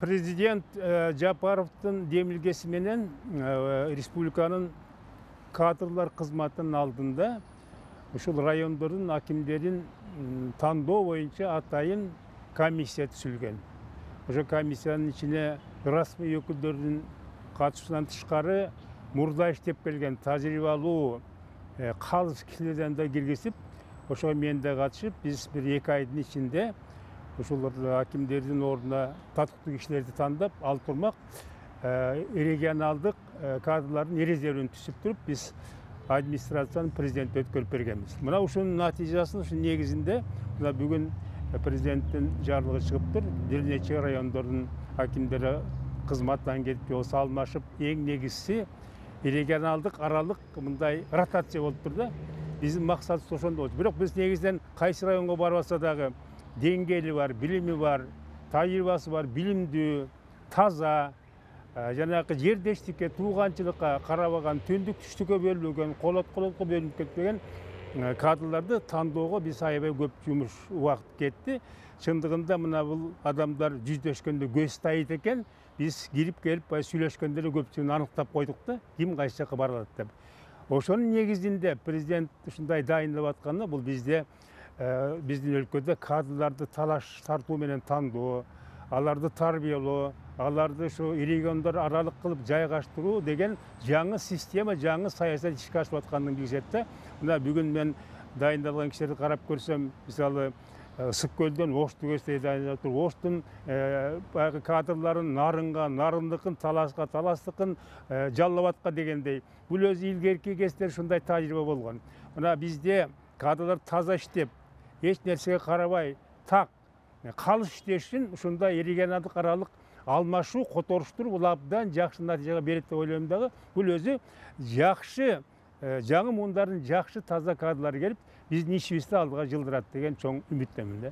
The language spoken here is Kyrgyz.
Президент Жапаровдун демилгеси менен республиканын кадрлар кызматынын алдында ушул райондордун акимдерин тандоо боюнча атайын комиссия түзүлгөн. Ошол комиссиянын ичине расмий өкүлдөрдүн катышуусунан тышкары мурда иштеп келген тажрыйбалуу калыс кишилерден да киргизип, ошого мен да катышып, биз бир 2 айдын ичинде ушул акимдердин ордуна татыктуу кишилерди тандап ал турмак регионалдык кадрлардын резервин түзүп туруп, биз администрациянын президентке өткөрүп бергенбиз. Мына ушунун натыйжасын, ушунун негизинде мына бүгүн президенттин жарлыгы чыгыптыр. Бир нече райондордун акимдери кызматтан кетип, жолсу алмашып, эң негизгиси регионалдык аралык мындай ротация болуптур да. Биздин максатыбыз ошондо болчу. Бирок биз негизинен кайсы районго барбаса дагы деңгээли бар, билими бар, тажрыйбасы бар, билимдүү, таза, жанагы жердештикке, тууганчылыкка карабаган, түндүк түштүккө бөлүнбөгөн, колотко бөлүнүп кетпеген кадрларды тандоого биз аябай көп жумуш убакыт кетти. Чындыгында мына бул адамдар жүздөшкөндө көз тайыт экен. Биз кирип келип сүйлөшкөндө эле көпчүлүгүн аныктап койдук да, ким кайсы жака бара алат деп. Ошонун негизинде президент ушундай дайындап атканы бул бизде биздин өлкөдө кадрларды талаш тартуу менен тандоо, аларды тарбиялоо, аларды ушу региондор аралык кылып жайгаштыруу деген жаңы система, жаңы саясат ишке ашып атканын билишет да. Мына бүгүн мен дайындалган кишилерди карап көрсөм, мисалы Ысык көлдөн Ошту көздөй дайындап туруп, Оштун баягы кадрларын Нарынга, Нарындыкын Таласка, Таластыкын Жалал Абадка дегендей, бул өзү илгерки кездер ушундай тажрыйба болгон. Мына бизде кадрлар таза иштеп, эч нерсеге карабай, так калыс иштешин ушундай регионалдык аралык алмашуу, которуштуруп, бул абдан жакшы натыйжага берет деп ойлойм дагы. Бул өзү жакшы, жаңы муундардын жакшы таза кадрлары келип, биздин ишибизди алдыга жылдырат деген чоң үмүттөмүн да.